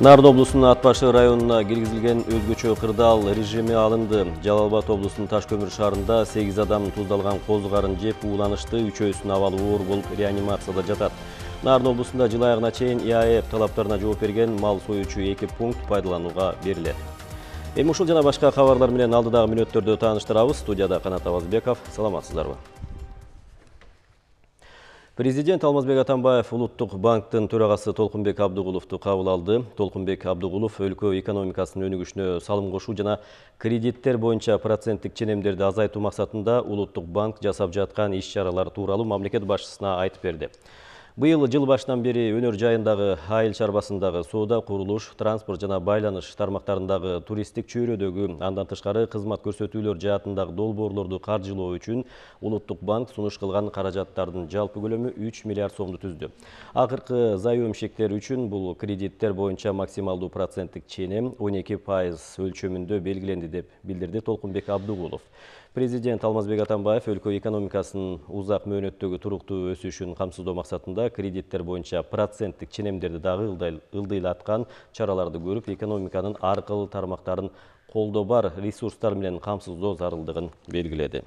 Нарын облусунун Ат башы районуна киргизилген өзгөчө кырдаал режими алынды. Жалал Абад облусунун Таш көмүр шаарында 8 адам туздалган козу карын жеп ууланышты, үчөөсүнүн абалы оор болуп реанимацияда жатат. Нарын облусунда жыл айыгына чейин ИАЭФ талаптарына жооп берген мал союучу 2 пункт пайдаланууга берилет. Эми ушул жана башка кабарлар менен алдыдагы мүнөттөрдө тааныштырабыз. Студияда Канат Абазбеков. Саламатсыздарбы? Президент Алмазбек Атамбаев Улуттук банктын төрагасы Толкунбек Абдыгуловду кабыл алды. Толкунбек Абдыгулов өлкө экономикасынын өнүгүшүнө салым кошуу жана кредиттер боюнча проценттик ченемдерди азайтуу максатында Улуттук банк жасап жаткан иш-чаралар тууралуу мамлекет башчысына айтып берди. Быйыл жыл башынан бери өнөр жайындагы, айыл чарбасындагы, соода, курулуш, транспорт жана байланыш тармактарындагы, туристтик чөйрөдөгү, андан тышкары кызмат көрсөтүүлөр жаатындагы долбоорлорду каржылоо үчүн Улуттук банк сунуш кылган каражаттардын жалпы көлөмү 3 миллиард сомду түздү. Акыркы заемщиктер үчүн бул кредиттер боюнча максималдуу проценттик ченем 12% өлчөмүндө белгиленди деп билдирди Толкунбек Абдыгулов. Президент Алмазбек Атамбаев өлкө экономикасынын узак мөөнөттөгү туруктуу өсүшүн камсыздоо максатында кредиттер боюнча проценттик ченемдерди дагы ылдыйлаткан чараларды көрүп, экономиканын ар кыл тармактарын колдо бар ресурстар менен камсыздоо зарылдыгын белгиледи.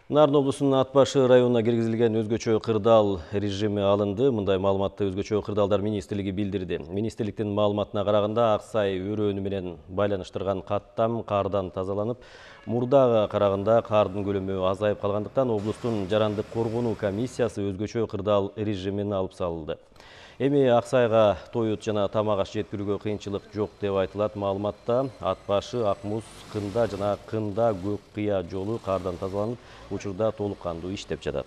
Нарын облусунун Ат башы районуна киргизилген өзгөчө кырдаал режими алынды. Мындай маалыматты өзгөчө кырдаалдар министрлиги билдирди. Министрликтин маалыматына караганда, Аксай өрөөнү менен байланыштырган каттам кардан тазаланып, мурдага караганда кардын көлөмү азайып калгандыктан облустун жарандык коргонуу комиссиясы өзгөчө кырдаал режимин алып салды. Эми Аксайга тоют жана тамак аш жеткирүүгө кыйынчылык жок деп айтылат маалыматта. Ат башы, Акмуз, Кында жана Кында Көк Кыя жолу кардан тазаланып, учурда толук кандуу иштеп жатат.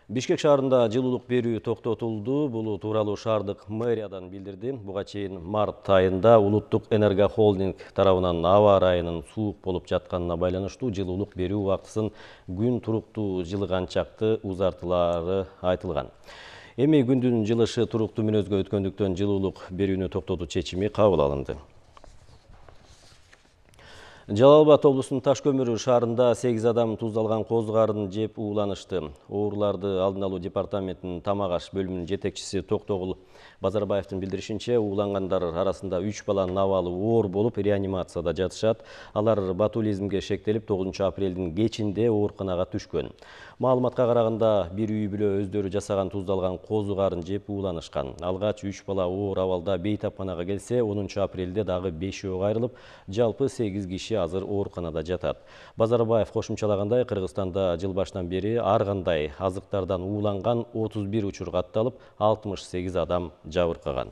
Бишкек шаарында жылуулук берүү токтотулду. Бул тууралуу шаардык мэриядан билдирди. Буга чейин март айында Улуттук Энерго Холдинг тарабынан аба ырайынын суук болуп жатканына байланыштуу жылуулук берүү убактысын күн туруктуу жылыганчакты узартылары айтылган. Эми күндүн жылышы туруктуу мүнөзгө өткөндүктөн жылуулук берүүнү токтотуу чечими кабыл алынды. Жалал Абад облусунун Таш көмүр шаарында 8 адам туздалган козу карын жеп ууланышты. Ооруларды алдын алуу департаментинин тамак аш бөлүмүнүн жетекчиси Токтогул Базарбаевдин билдиришинче, уулангандар арасында 3 баланын абалы оор болуп реанимацияда жатышат. Алар ботулизмге шектелип 9 апрелдин кечинде ооруканага түшкөн. Маалыматка караганда, бир үй бүлө өздөрү жасаган туздалган козу карын жеп ууланышкан. Алгач 3 бала оор абалда бейтапканага келсе, 10 апрелде дагы 5-өө кайрылып, жалпы 8 киши азыр ооруканада жатат. Базарбаев кошумчалагандай, Кыргызстанда жыл башынан бери ар кандай азыктардан ууланган 31 учур катталып, 68 адам жабыркаган.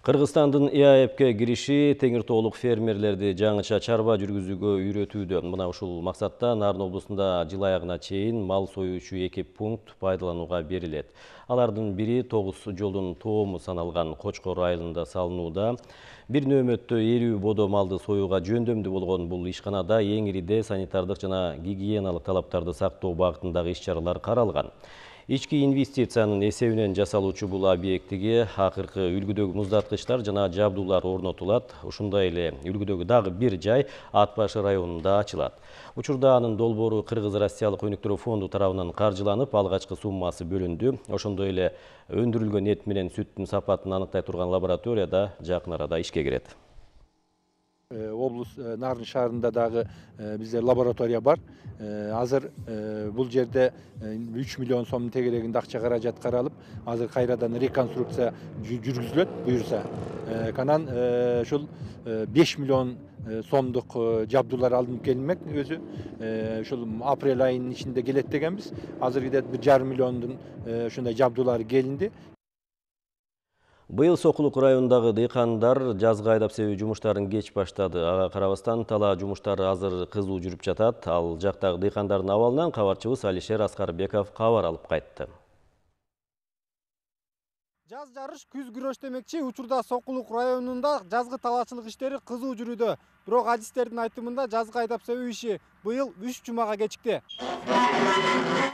Кыргызстандын ИАЭФке кириши теңир тоолук фермерлерди жаңыча чарба жүргүзүүгө үйрөтүүдө. Мына ушул максатта Нарын облусунда жыл айыгына чейин мал союучу 2 пункт пайдаланууга берилет. Алардын бири 9 жолдун тоому саналган Кочкор айылында салынууда. Бир нөөмөттө 50 бодо малды союуга жөндөмдүү болгон бул ишканада эң ириде санитардык жана гигиеналык талаптарды сактоо багытындагы иш-чаралар каралган. Ички инвестициянын эсебинен жасалуучу бул объектиге акыркы үлгүдөгү муздаткычтар жана жабдуулар орнотулат. Ушундай эле үлгүдөгү дагы бир жай Ат башы районунда ачылат. Учурда анын долбоору Кыргыз-Россиялык өнүктүрүү фонду тарабынан каржыланып, алгачкы суммасы бөлүндү. Ошондой эле өндүрүлгөн эт менен сүттүн сапатын аныктай турган лабораторияда жакын арада ишке кирет. Облус Нарын шаарында дагы бизде лаборатория бар. Азыр бул жерде 3 миллион сомдун тегерегинде акча каражат каралып, азыр кайрадан реконструкция жүргүзүлөт буюрса. Канан ушул 5 миллион сомдук жабдуулар алынып келинмек өзү. Ушул апрель айынын ичинде келет дегенбиз. Азыр где-то 1,5 миллиондун ушундай жабдуулары келинди. Быйыл Сокулук районундагы дыйкандар жазгы айдап себүү жумуштарын кеч баштады. Ага карабастан талаа жумуштары азыр кызуу жүрүп жатат. Ал жактагы дыйкандардын абалынан кабарчыбыз Алишер Аскарбеков кабар алып кайтты. Жаз жарыш, күз күрөш демекчи, учурда Сокулук районунда жазгы талаачылык иштери кызуу жүрүүдө. Бирок адистердин айтымында жазгы айдап себүү иши быйыл 3 жумага кечикти.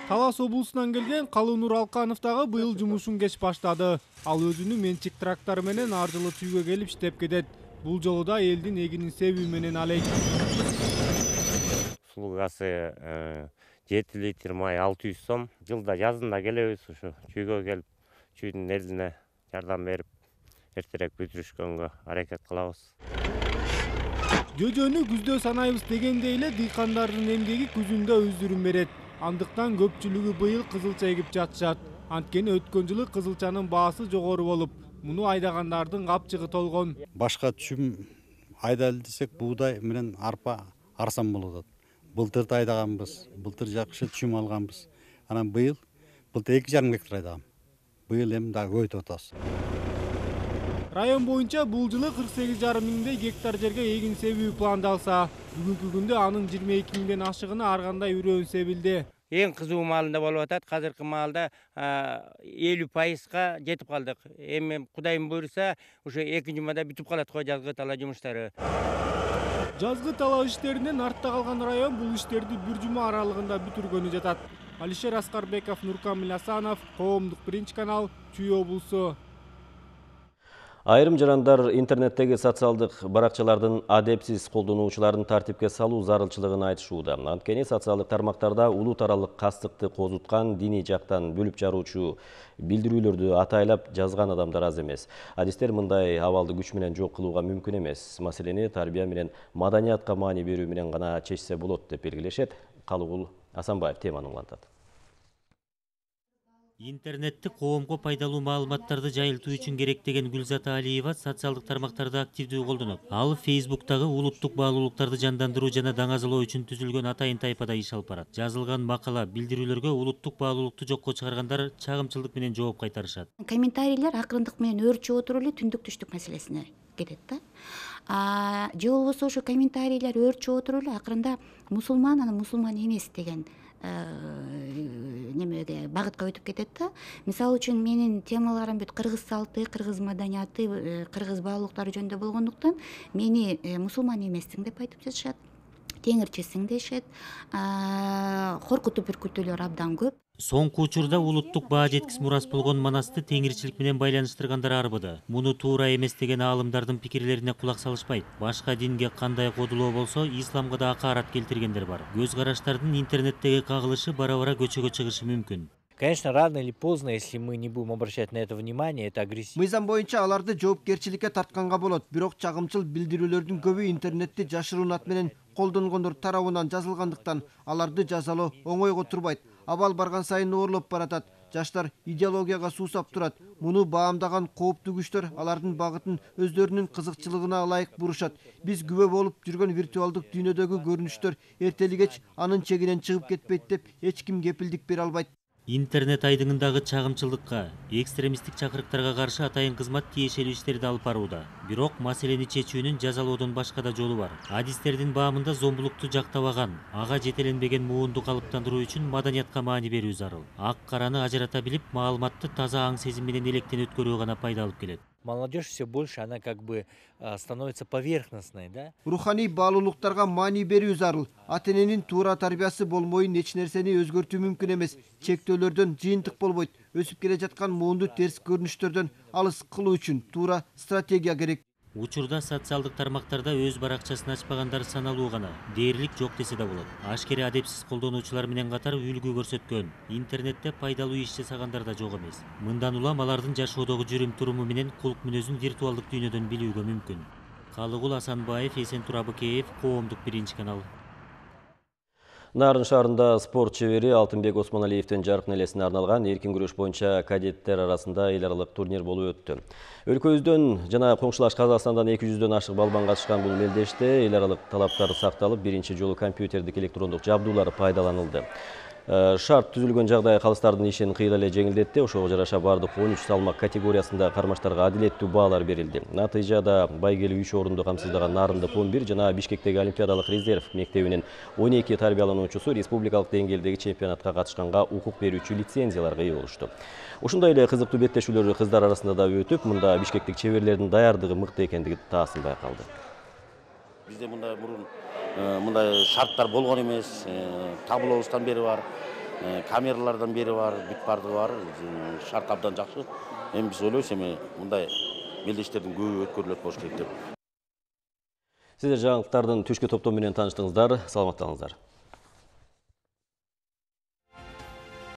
Талас облусунан келген Калуунур Алканов дагы быйыл жумушун кеч баштады. Ал өзүнүн менчик трактору менен ар жылы түйгө келип иштеп кетет. Бул жолу да элдин эгинин себүү менен алек. Сулуу гасы 7 литр май 600 сом. Жылда жазында келебиз, ушу чүйгө келип, чүйдүн элине жардам берип, эртерээк бүтүрүшкөнгө аракет кылабыз. Жөжөнү күздө санайбыз дегендей эле дыйкандардын эмгеги күзүндө өздүрүн берет. Андыктан көпчүлүгү быйыл кызылча эгип жатышат. Анткени өткөн жылы кызылчанын баасы жогору болуп, муну айдагандардын капчыгы толгон. Башка түшүм айдайлы десек, буудай менен арпа арзан болот. Былтырды айдаганбыз, былтыр жакшы түшүм алганбыз. Анан быйыл 2,5 гектар айдагам. Быйыл эми дагы көбөйтүп атабыз. Район боюнча бул жылы 48,5 миңдей гектар жерге эгин себүү пландалса, бүгүнкү күндө анын 22 миңден ашыгына ар кандай үрөөн себилди. Эң кызуу маалында болуп атат. Азыркы маалда 50%га жетип калдык. Эми Кудайым буйруса, ушу 2 жумада бүтүп калат го жазгы тала жумуштары. Жазгы тала иштеринен артта калган район бул иштерди 1 жума аралыгында бүтүргөнү жатат. Алишер Аскарбеков, Нуркамил Асанов, Коомдук 1-канал, Чүй облусу. Айрым жарандар интернеттеги социалдык баракчалардын адепсиз колдонуучуларын тартипке салуу зарылчылыгын айтышууда. Анткени социалдык тармактарда улут аралык кастыкты козуткан, диний жактан бөлүп жаруучу билдирүүлөрдү атайлап жазган адамдар аз эмес. Адистер мындай абалды күч менен жок кылууга мүмкүн эмес. Маселени тарбия менен маданиятка маани берүү менен гана чечсе болот деп белгилешет. Калыгул Асанбаев теманы улантат. Интернетти коомго пайдалуу маалыматтарды жайылтуу үчүн керек деген Гүлзат Алиева социалдык тармактарды активдүү колдонот. Ал Facebooktагы улуттук баалуулуктарды жандандыруу жана даңазалоо үчүн түзүлгөн атайын тайпада иш алып барат. Жазылган макала, билдирүүлөргө улуттук баалуулукту жокко чыгаргандар чагымчылдык менен жооп кайтарышат. Комментарийлер акырындык менен өөрчүп отуруп эле түндүк түштүк маселесине кетет да. Же болбосо ошо комментарийлер өөрчүп отуруп эле акырында мусулман, анан мусулман эмес деген немеге багытка өтүп кетет да. Мисалы үчүн менин темаларым бүт кыргыз салты, кыргыз маданияты, кыргыз баалуулуктары жөнүндө болгондуктан мени мусулман эмессиң деп айтып жатышат, теңирчисиң дешет, коркутуп үркүтүүлөр абдан көп. Соңку учурда улуттук баа жеткис мурас болгон Манасты теңирчилик менен байланыштыргандар арбыды. Муну туура эмес деген аалымдардын пикирлерине кулак салышпайт. Башка динге кандай кодулоо болсо, исламга да акаарат келтиргендер бар. Көз караштардын интернеттеги кагылышы бара-бара көчөгө чыгышы мүмкүн. Конечно, рано или поздно, если мы не будем обращать на это внимание, это агрессивно. Мыйзам боюнча аларды жоопкерчиликке тартканга болот. Бирок чагымчыл билдирүүлөрдүн көбү интернетти жашыруун ат менен колдонгондор тарабынан жазылгандыктан аларды жазалоо оңойго турбайт. Абал барган сайын оорлоп баратат. Жаштар идеологияга суусап турат. Муну баамдаган кооптуу күчтөр алардын багытын өздөрүнүн кызыкчылыгына ылайык бурушат. Биз күбө болуп жүргөн виртуалдык дүйнөдөгү көрүнүштөр эртели-кеч анын чегинен чыгып кетпейт деп эч ким кепилдик бере албайт. Интернет айдыңындагы чагымчылдыкка, экстремисттик чакырыктарга каршы атайын кызмат тиешелүү иштерди алып барууда. Бирок маселени чечүүнүн жазалоодон башка да жолу бар. Адистердин баамында зомбулукту жактабаган, ага жетеленбеген муунду калыптандыруу үчүн маданиятка маани берүү зарыл. Ак караны ажырата билип, маалыматты таза аң сезим менен электен өткөрүү гана пайда алып келет. Молодежь все больше, она как бы становится поверхностной, да? Руханий баалуулуктарга маани берүү зарыл. Ата-эненин туура тарбиясы болмойын эч нерсени өзгөртүү мүмкүн эмес. Чектөөлөрдөн жыйынтык болбойт. Өсүп келе жаткан муунду терс көрүнүштөрдөн алыс кылуу үчүн туура стратегия керек. Учурда социалдык тармактарда өз баракчасын ачпагандар саналуу гана. Дээрлик жок десе да болот. Ашкере адепсиз колдонуучулар менен катар үлгү көрсөткөн, интернетте пайдалуу иш жасагандар да жок эмес. Мындан улам алардын жашоодогу жүрүм-туруму менен кулк мүнөзүн виртуалдык дүйнөдөн билүүгө мүмкүн. Калыгул Асанбаев, Эсентур Абыкеев, Коомдук 1-канал. Нарын шаарында спорт чебери Алтынбек Осмоналиевдин жаркын элесине арналган эркин күрөш боюнча кадеттер арасында эл аралык турнир болуп өттү. Өлкөбүздөн жана коңшулаш Казакстандан 200дөн ашык балбан катышкан бул мелдеште эл аралык талаптар сакталып, биринчи жолу компьютердик электрондук жабдуулар пайдаланылды. Шарт түзүлгөн жагдай калыстардын ишин кыйла эле жеңилдетти. Ошого жараша бардык 13 салмак категориясында кармаштарга адилеттүү баалар берилди. Натыйжада байгели 3 орунду камсыздаган Нарындык 11 жана Бишкектеги Олимпиадалык резерв мектебинин 12 тарбиялануучусу республикалык деңгээлдеги чемпионатка катышканга укук берүүчү лицензияларга ээ болушту. Ушундай эле кызыктуу беттешүүлөр кыздар арасында да өтүп, мында бишкектик чеберлердин даярдыгы мыкты экендиги таасын байкалды. Бизде мындай шарттар болгон эмес, таблообуздан бери бар, камералардан бери бар, бүт бардыгы бар, шарт абдан жакшы. Эми биз ойлойбуз, мындай мелдештердин көбү өткөрүлөт болуш керек деп. Сиздер жаңылыктардын түшкү топтому менен тааныштыңыздар, саламаттаңыздар.